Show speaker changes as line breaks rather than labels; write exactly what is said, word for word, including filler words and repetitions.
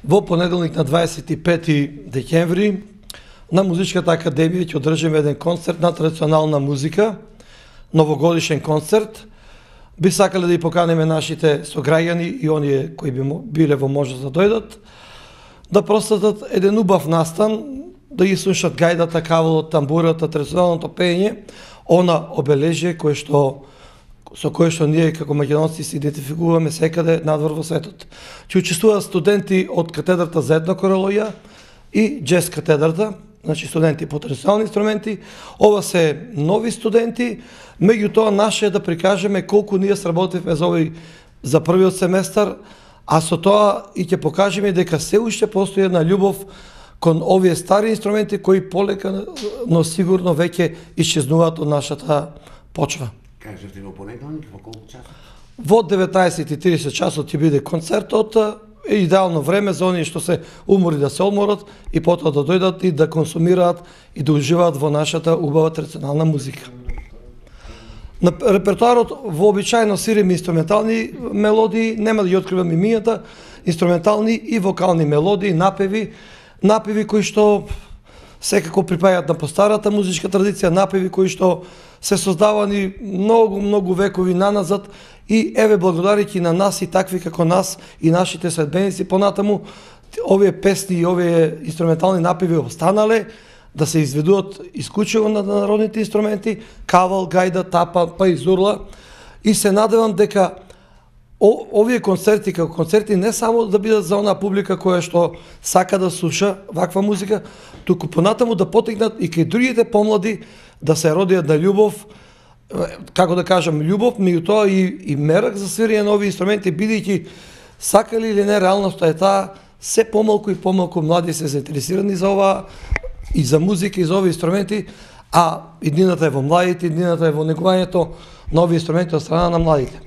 Во понеделник на дваесет и пети декември на Музичката академија ќе одржиме еден концерт на традиционална музика, новогодишен концерт. Би сакале да и поканеме нашите сограѓани и оние кои би биле во можност да дојдат, да простатат еден убав настан, да ги слушат гајдата, кавалот, тамбурата, традиционалното пеење, она обележие кое што со кое што ние како македонци се идентификуваме секаде надвор во светот. Ќе учествуваат студенти од катедрата за етнокорологија и джез катедрата, значи студенти по традиционални инструменти. Ова се нови студенти, меѓутоа наше е да прикажеме колку ние сработивме за овој за првиот семестар, а со тоа и ќе покажеме дека се уште постои една љубов кон овие стари инструменти кои полека, но сигурно веќе исчезнуваат од нашата почва.
Кажете во понеделник, во колку часот?
Во деветнаесет и тридесет часот ќе биде концертот, е идеално време за оние што се умори да се одморат и потоа да дојдат и да консумираат и да уживаат во нашата убава традиционална музика. На репертоарот вообичаено свириме инструментални мелодии, нема да ги откривам имињата, инструментални и вокални мелодии, напеви, напеви кои што секако припаѓаат на постарата музичка традиција, напеви кои што се создавани многу, многу векови наназад и еве благодарејќи на нас и такви како нас и нашите следбеници понатаму, овие песни и овие инструментални напеви останале да се изведуваат исклучиво на народните инструменти, кавал, гајда, тапа, па и зурла. И се надевам дека О, овие концерти како концерти не само да бидат за онаа публика која што сака да слуша ваква музика, туку понатаму да потекнат и кај другите помлади да се родиат на љубов, како да кажам, љубов, меѓутоа и, и мерак за свирење на овие инструменти, бидејќи сакали или не, реалноста е таа, се помалку и помалку млади се заинтересирани за ова и за музика и за овие инструменти, а иднината е во младите, иднината е во негувањето на овие инструменти од страна на младите.